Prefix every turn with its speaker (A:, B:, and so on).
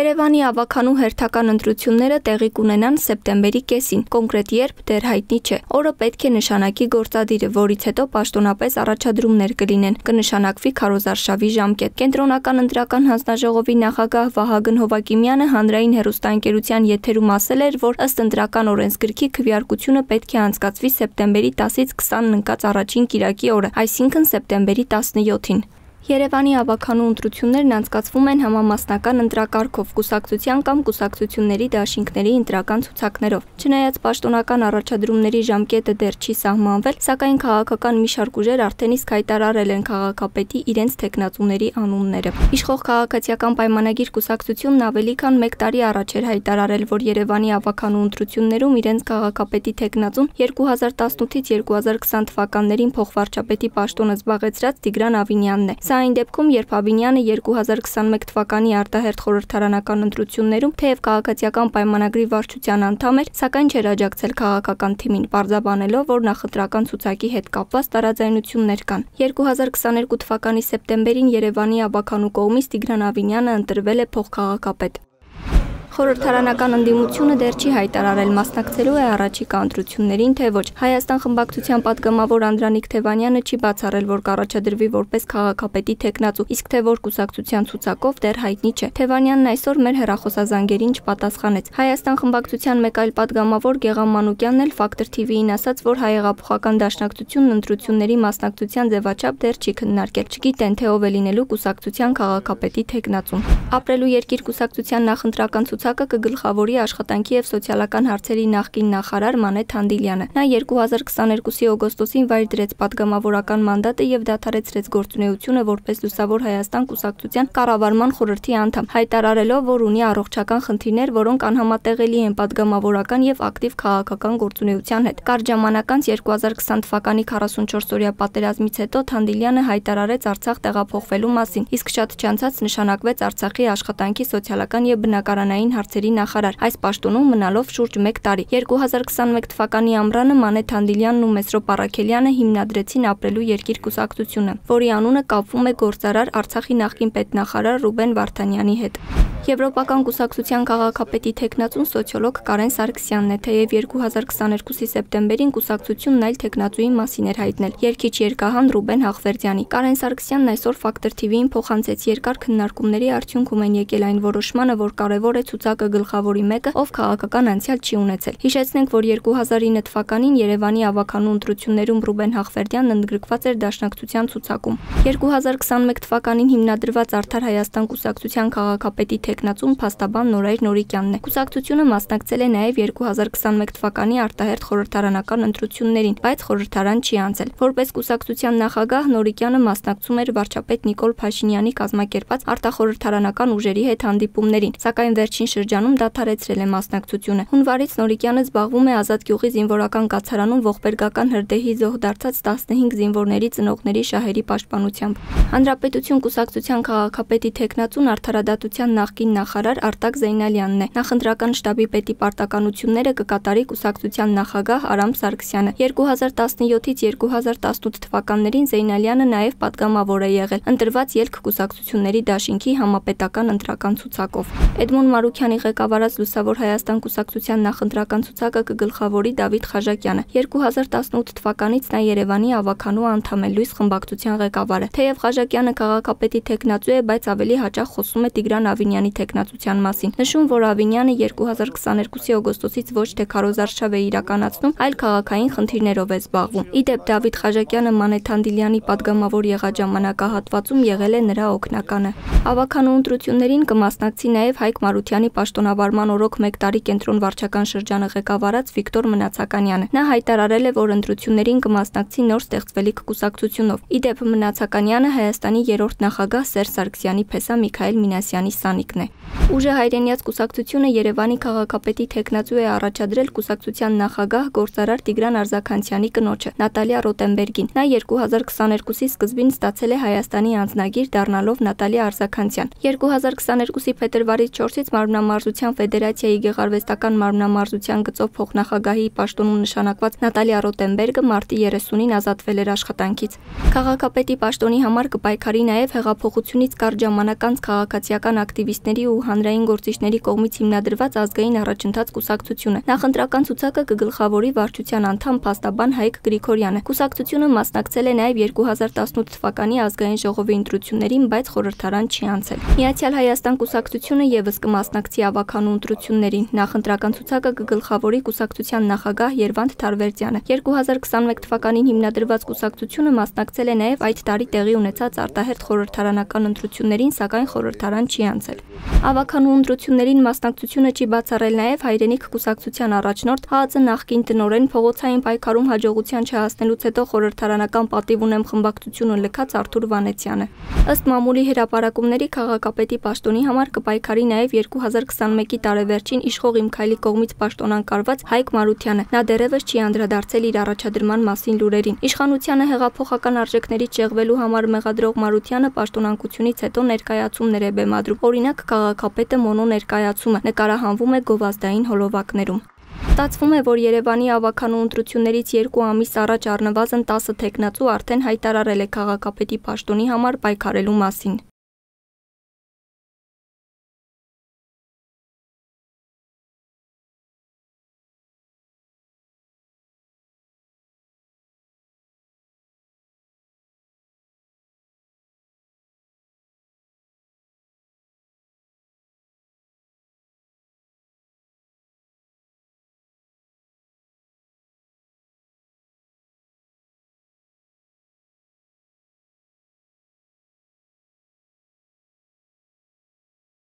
A: Երևանի ավականու հերթական ընտրությունները տեղի կունենան սեպտեմբերի կեսին, կոնկրետ երբ դեռ հայտնի չէ։ Օրը պետք է նշանակի գործադիրը, որից հետո պաշտոնապես առաջադրումներ կլինեն, կնշանակվի քարոզարշավի ժամկետ։ Կենտրոնական ընտրական հանձնաժողովի նախագահ Վահագն Հովակիմյանը հանրային հեռուստաընկերության եթերում ասել էր, որ ըստ ընտրական օրենսգրքի քվեարկությունը պետք է անցկացվի սեպտեմբերի 10-ից 20-ն ընկած առաջին կիրակի օրը, այսինքն սեպտեմբերի 17-ին։ Երևանի ավականու ընտրություններն անցկացվում են համամասնական ընտրակարգով, կուսակցության կամ կուսակցությունների դաշինքների ընտրական ցուցակներով։ Չնայած պաշտոնական առաջադրումների ժամկետը դեռ չի սահմանվել, սակայն քաղաքական մի շարք ուժեր արդեն իսկ հայտարարել են քաղաքապետի իրենց թեկնածուների անունները։ Իշխող քաղաքացիական պայմանագիր կուսակցությունն ավելի քան 1 տարի առաջ էր հայտարարել, որ Երևանի ավականու ընտրություններում իրենց քաղաքապետի թեկնածուն 2018-ից 2020 թվականներին փոխվարչապետի պաշտոնը զբաղեցրած Տիգրան Ավինյանն է։ Սա այն դեպքում, երբ Ավինյանը 2021 թվականի արտահերթ խորհրդարանական ընտրություններում թեև քաղաքացիական պայմանագրի վարչության անդամ էր, սակայն չէր աջակցել քաղաքական թիմին, պարզաբանելով, որ նախընտրական ցուցակի հետ կապված տարաձայնություններ կան։ 2022 թվականի սեպտեմբերին Երևանի ավականու կողմից Տիգրան Ավինյանը ընտրվել է փոխքաղաքապետ։ Խորհրդարանական ընդդիմությունը դեռ չի հայտարարել մասնակցելու է առաջիկա ընտրություններին, թե ոչ։ Հայաստան խմբակցության պատգամավոր Անդրանիկ Թևանյանը չի բացառել, որ կառաջադրվի որպես քաղաքապետի թեկնածու, իսկ թե որ կուսակցության ցուցակով դեռ հայտնի չէ։ Թևանյանն այսօր մեր հեռախոսազանգերին չպատասխանեց։ Հայաստան խմբակցության մեկ այլ պատգամավոր Գեղամ Մանուկյանն էլ Factor TV-ին ասաց, որ Հայեղափոխական դաշնակցությունն ընտրությունների մասնակցության ձևաչափ դեռ չի քննարկել։ Չգիտեն, թե ով է լինելու կուսակցության քաղաքապետի թեկնածուն։ Ապրելու երկիր կուսակցության նախընտրական ցուցակը կգլխավորի աշխատանքի եւ սոցիալական հարցերի նախկին նախարար Մանե Թանդիլյանը։ Նա 2022-ի օգոստոսին վայր դրեց պատգամավորական մանդատը եւ դադարեցրեց գործունեությունը որպես Լուսավոր Հայաստան կուսակցության կառավարման խորհրդի անդամ, հայտարարելով, որ ունի առողջական խնդիրներ, որոնք անհամատեղելի են պատգամավորական եւ ակտիվ քաղաքական գործունեության հետ։ Կարճ ժամանակ անց 2020 թվականի 44-օրյա պատերազմից հետո Թանդիլյանը հայտարարեց Արցախ տեղափոխվելու մասին, իսկ շատ չանցած նշանակվեց Արցախի աշխատանքի սոցիալական եւ բնակարանային հարցերի նախարար, այս պաշտոնում մնալով շուրջ 1 տարի։ 2021 թվականի ամռանը Մանե Թանդիլյանն ու Մեսրոպ Առաքելյանը հիմնադրեցին Ապրելու երկիր կուսակցությունը, որի անունը կապվում է գործարար Արցախի նախկին պետնախարար Ռուբեն Վարդանյանի հետ։ Եվրոպական կուսակցության քաղաքապետի թեկնածուն սոցիոլոգ Կարեն Սարգսյանն է, թեև 2022-ի սեպտեմբերին կուսակցությունն այլ թեկնածուի մասին էր հայտնել երգիչ երգահան Ռուբեն Հաղվերդյանի։ Կարեն Սարգսյանն այսօր Factor TV-ին փոխանցեց երկար քննարկումների արդյունքում են եկել այն որոշմանը, որ կարևոր է ցուցակը գլխավորի մեկը, ով քաղաքական անցյալ չի ունեցել։ Հիշեցնենք, որ 2009 թվականին Երևանի ավականու ընտրություններում Ռուբեն Հաղվերդյանն ընդգրկված էր Դաշնակցության ցուցակում։ 2021 թվականին հիմնադրված Արդար Հայաստան կուսակցության քաղաքապետի թեկնածուն փաստաբան Նորայր Նորիկյանն է։ Կուսակցությունը մասնակցել է նաև 2021 թվականի արտահերթ խորհրդարանական ընտրություններին, բայց խորհրդարան չի անցել։ Որպես կուսակցության նախագահ Նորիկյանը մասնակցում էր վարչապետ Նիկոլ Փաշինյանի կազմակերպած արտախորհրդարանական ուժերի հետ հանդիպումներին, սակայն վերջին շրջանում դադարեցրել է մասնակցությունը։ Հունվարից Նորիկյանը զբաղվում է Ազատ գյուղի զինվորական կացարանում ողբերգական հրդեհի զոհ դարձած 15 զինվորների ծնողների շահերի պաշտպանությամբ։ Հանրապետություն կուսակցության քաղաքապետի թեկնածուն արդարադատության նախկին նախարար Արտակ Զեյնալյանն է։ Նախընտրական շտաբի պետի պարտականությունները կկատարի կուսակցության նախագահ Արամ Սարգսյանը։ 2017-ից 2018 թվականներին Զեյնալյանը նաև պատգամավոր է եղել, ընտրված ելք կուսակցությունների դաշինքի համապետական ընտրական ցուցակով։ Էդմոն Մարուքյանի ղեկավարած Լուսավոր Հայաստան կուսակցության նախընտրական ցուցակը կգլխավորի Դավիթ Խաժակյանը։ 2018 թվականից նա Երևանի ավականու անդամ է, Լույս խմբակցության ղեկավարը։ Թեև Խաժակյանը քաղաքապետի թեկնածու է, բայց ավելի հաճախ խոսում է Տիգրան Ավինյանի թեկնածության մասին։ Նշում, որ Ավինյանը 2022-ի օգոստոսից ոչ թե քարոզարշավ է իրականացնում, այլ քաղաքային խնդիրներով է զբաղվում։ Իդեպ Դավիթ Խաժակյանը Մանե Թանդիլյանի պատգամավոր եղած ժամանակահատվածում եղել է նրա օգնականը։ Ավականու ընտրություններին կմասնակցի նաև Հայկ Մարությանի պաշտոնավարման օրոք 1 տարի կենտրոն վարչական շրջանը ղեկավարած Վիկտոր Մնացականյանը։ Նա հայտարարել է, որ ընտրություններին կմասնակցի նոր ստեղծվելիք կուսակցությունով։ Իդեպ Մնացականյանը Հայաստանի 3-րդ նախագահ Սերժ Սարգսյանի փեսա Միքայել Մինասյանի սանիկն է։ Ուժը հայրենիաց կուսակցությունը Երևանի քաղաքապետի թեկնածու է առաջադրել կուսակցության նախագահ գործարար Տիգրան Արզաքանցյանի կնոջը Նատալիա Ռոտենբերգին։ Նա 2022-ի սկզբին ստացել է Հայաստանի անձնագիր, դառնալով Նատալիա Արզաքանցյան։ 2022-ի փետրվարի 4-ից մարմնամարզության ֆեդերացիայի գեղարվեստական մարմնամարզության գծով փոխնախագահի պաշտոնում նշանակված Նատալիա Ռոտենբերգը մարտի 30-ին ազատվել էր աշխատանքից։ Քաղաքապետի պաշտոնի համար կպայքարի նաև հեղափոխությունից կարճ ժամանակ անց քաղաքացիական ակտիվիստների ու հանրային գործիչների կողմից հիմնադրված ազգային առաջընթաց կուսակցությունը։ Նախընտրական ցուցակը կգլխավորի վարչության անդամ փաստաբան Հայկ Գրիգորյանը։ Կուսակցությունը մասնակցել է նաև 2018 թվականի ազգային ժողովի ընտրություններին, բայց խորհրդարան չի անցել։ Միացյալ Հայաստան կուսակցությունը եւս կմասնակցի ավականու ընտրություններին։ Նախընտրական ցուցակը կգլխավորի կուսակցության նախագահ Երվանդ Թարվերդյանը։ 2021 թվականին հիմնադրված կուսակցությունը մասնակցել է նաև այդ տարի տեղի ունեցած արտահերթ խորհրդարանական ընտրություններին, սակայն խորհրդարան չի անցել։ Ավականու ընտրություններին մասնակցությունը չի բացառել նաև Հայրենիք կուսակցության առաջնորդ ՀԱԾ նախկին տնօրեն փողոցային պայքարում հաջողության չհասնելուց հետո խորհրդարանական պատիվ ունեմ խմբակցությունը լքած Արթուր Վանեցյանը։ Ըստ մամուլի հրապարակումների քաղաքապետի պաշտոնի համար կպայքարի նաև 2021-ի տարեվերջին իշխող Իմ Քայլի կողմից պաշտոնակարված Հայկ Մարությանը։ Նա դեռևս չի անդրադարձել իր առաջադրման մասին լուրերին։ Իշխանությանը հեղափոխական արժեքներից շեղվելու համար մեղադրող Մարությանը պաշտոնանկությունից հետո ներկայացումներ է բեմադրում։ Օրինակ, քաղաքապետը մոնո ներկայացումը նկարահանվում է գովազդային հոլովակներում։ Ստացվում է, որ Երևանի ավականու ընտրություններից 2 ամիս առաջ առնվազն 10 թեկնածու արդեն հայտարարել է քաղաքապետի պաշտոնի համար պայքարելու մասին։